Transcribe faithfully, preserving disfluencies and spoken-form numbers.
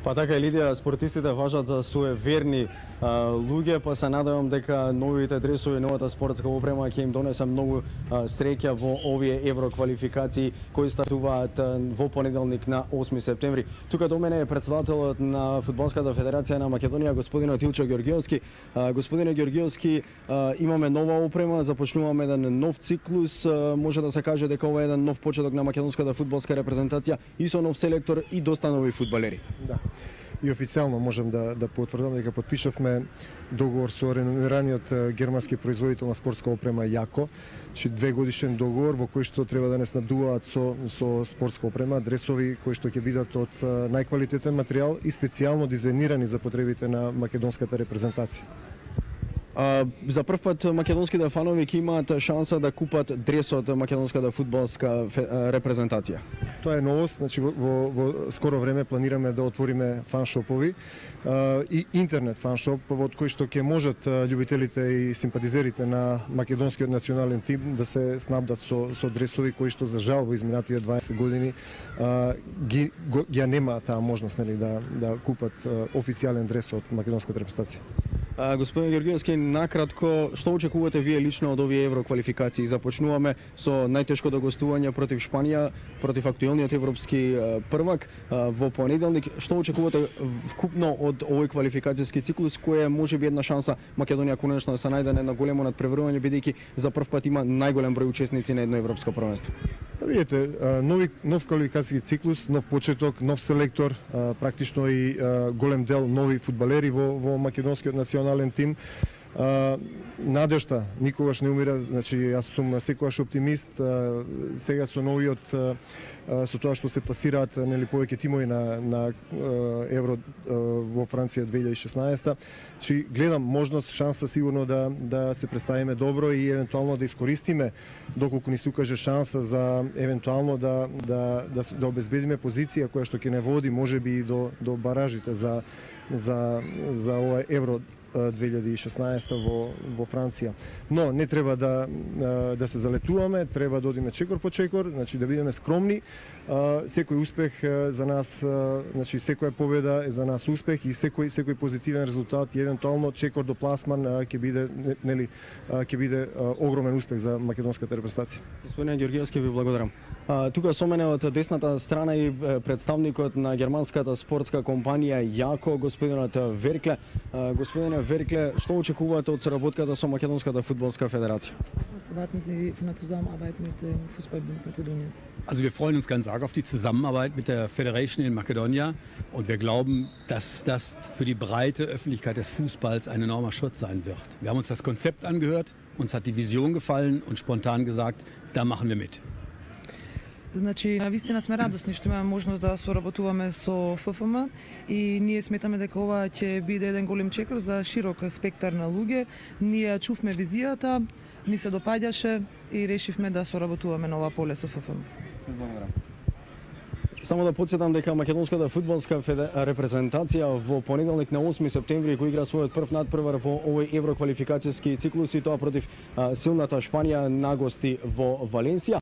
Па така, Лидија, спортистите важат за суеверни а, луѓе, па се надевам дека новите дресови, новата спортска опрема ќе им донесе многу а, среќа во овие евроквалификации кои стартуваат а, во понеделник на осми септември. Тука до мене е претседателот на Фудбалската федерација на Македонија, господинот Илчо Ѓорѓиевски. А, господине Ѓорѓиевски, а, имаме нова опрема, започнуваме еден нов циклус, а, може да се каже дека ова е еден нов почеток на македонската фудбалска репрезентација и со нов селектор и доста нови фудбалери. Да. И официјално можем да да потврдам дека подпишавме договор со реномираниот германски производител на спортска опрема Јако, че две годишен договор во кој што треба да не снабдуваат со со спортска опрема, дресови кои што ќе бидат од најквалитетен материјал и специјално дизајнирани за потребите на македонската репрезентација. А, за прв пат македонските фанови ќе имаат шанса да купат дрес од македонската фудбалска репрезентација. Тоа е новост, значи во, во, во скоро време планираме да отвориме фаншопови а, и интернет фаншоп од кој што ќе можат љубителите и симпатизерите на македонскиот национален тим да се снабдат со со дресови кои што за жал во изминатите дваесет години а, ги го, ја нема таа можност, нели, да да купат а, официјален дрес од македонската репрезентација. А, господин Ѓорѓиевски, накратко, што очекувате вие лично од овие евроквалификации? Започнуваме со најтешкото гостување против Шпанија, против актуелниот европски првак во понеделник. Што очекувате вкупно од овој квалификацијски циклус, кој е можеби една шанса Македонија конечно да се најде на големо надпреварување, бидејќи за прв пат има најголем број учесници на едно европско првенство? Видите, нови, нов квалификацијски циклус, нов почеток, нов селектор, практично и голем дел нови фудбалери во, во македонскиот национален тим. Uh, надежта никогаш не умира, значи јас сум секогаш оптимист. Uh, сега со новиот uh, со тоа што се пласираат, нели, повеќе тимови на на uh, Евро uh, во Франција две илјади и шеснаесета, значи гледам можност, шанса сигурно да да се представиме добро и евентуално да искористиме доколку ни се укаже шанса за евентуално да да да, да обезбедиме позиција која што ќе не води можеби и до до баражите за за за ова Евро две илјади и шеснаесета во во Франција. Но не треба да да се залетуваме, треба да одиме чекор по чекор, значи да бидеме скромни. Секој успех за нас, значи секоја победа е за нас успех и секој секој позитивен резултат и евентуално чекор до пласман ќе биде, нели, ќе биде огромен успех за македонската репрезентација. Господине Ѓорѓиевски, ви благодарам. А, тука со мене од десната страна и представникот на германската спортска компанија Јако, господинот Веркле. А, господине Веркле, што очекувате од соработката со Македонската фудбалска федерација? Was erwarten Sie von der Zusammenarbeit mit dem Fußballbund Mazedoniens? Also wir freuen uns ganz arg auf die Zusammenarbeit mit der Federation in Makedonia und wir glauben, dass das für die breite Öffentlichkeit des Fußballs ein enormer Schutz sein wird. Wir haben uns das Konzept angehört, uns hat die Vision gefallen und spontan gesagt, da machen wir mit. Значи, навистина сме радосни што имаме можност да соработуваме со Ф Ф М и ние сметаме дека ова ќе биде еден голем чекор за широк спектар на луѓе. Ние чувме визијата, ни се допаѓаше и решивме да соработуваме на ова поле со Ф Ф М. Благодарам. Само да подсетам дека македонската фудбалска репрезентација во понеделник на осми септември кој игра својот прв надпревар во овој евроквалификацијски циклус и тоа против а, силната Шпанија на гости во Валенсија.